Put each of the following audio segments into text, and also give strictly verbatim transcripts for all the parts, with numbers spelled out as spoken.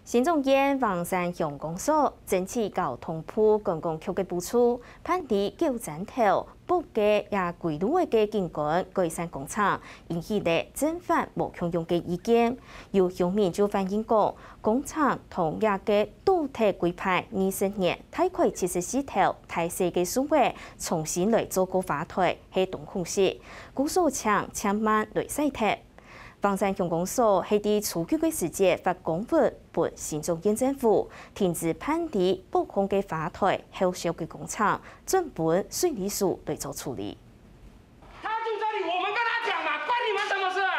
新竹縣橫山鄉公所爭取交通部觀光局个補助，辦理九層頭北个也歸路个景觀改善工程，引起了正反無共樣个意見。有鄉民就反映講，工程同這个倒忒規劃二十年大概七十四頭大細个樹仔重新來做過花台，係當可惜，故所請千萬來徙忒。 橫山鄉公所係在初九个時節發公文分新竹縣政府，停止辦理北項个花台後續个工程，轉分水利署來做處理。他住這裡，我們跟他講嘛，關你們什麼事啊？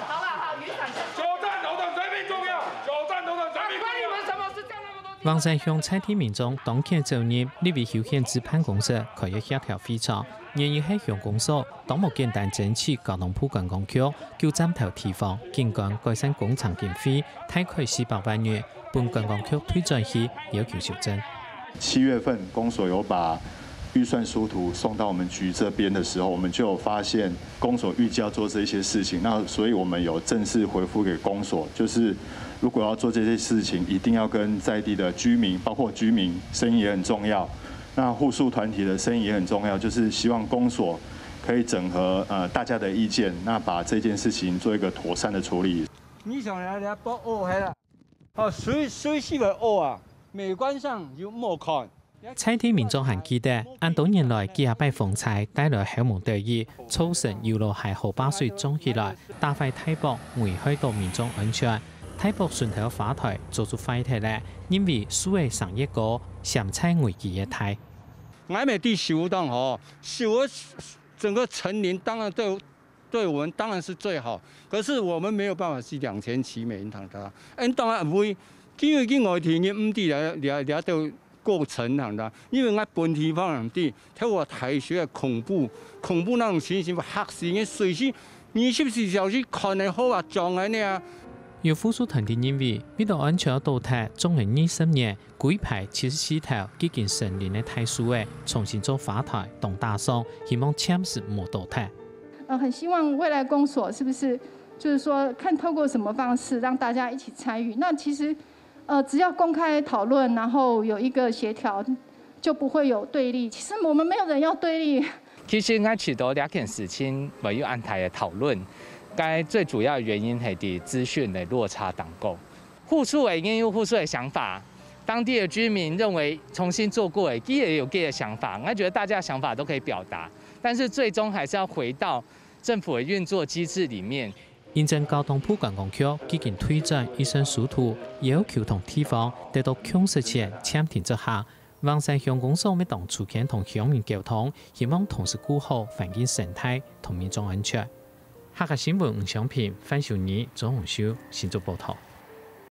好了好，雨傘下。九站頭的水平重要，九站頭的水平重要。關你們什麼事？叫那麼多地方。橫山鄉在地民眾當天走入立委邱顯智辦公室開个協調會場，原因係鄉公所當無簡單爭取交通部觀光局九站頭地方景觀改善工程經費，大概四百萬元，分觀光局退轉去要求修正。七月份公所有把预算书图送到我们局这边的时候，我们就有发现公所预计要做这些事情，那所以我们有正式回复给公所，就是如果要做这些事情，一定要跟在地的居民，包括居民声音也很重要。那户数团体的声音也很重要，就是希望公所可以整合呃大家的意见，那把这件事情做一个妥善的处理。你想来来不哦，嘿啦，哦，水水是个哦啊，美观上有莫看。在地民眾還記得，恁多年來幾下擺風災帶來猴毛鳥蟻，造成有路害河壩水漲起來，打壞大駁，危害到民眾安全。大駁脣頭花台早就壞忒了，因為樹仔生越高，潛在危機越大。俺们地修当好，修个整个成林当然对对我们当然是最好，可是我们没有办法去两全其美，你懂的。嗯，当然不会，因为去外地人唔知了了了到过程，懂的。因为俺本地方人知，透过大水的恐怖，恐怖那种情形，吓死人，水是二十四小时看得好啊，撞人的啊。有護樹團體認為，為了安全倒忒種了二十年，規排七十四頭已經成林个大樹仔，重新做花台當打爽，希望暫時莫倒忒。呃，很希望未来公所是不是就是说看透过什么方式让大家一起参与？那其实，呃，只要公开讨论，然后有一个协调，就不会有对立。其实我们没有人要对立。其實𠊎知道這件事情會有恁大个討論，該最主要个原因係在資訊个落差當高。護樹个人有護樹个想法，當地个居民認為重新做過个，佢也有佢个想法。𠊎覺得大家想法都可以表達，但是最終還是要回到政府的運作機制裡面。 因為交通部觀光局已經退轉預算書圖，要求同地方得到共識前暫停執行。橫山鄉公所乜當出錢同鄉民溝通，希望同時顧好環境生態同民眾安全。客家新聞吳昌平、范秀妮、鍾宏修，新竹報導。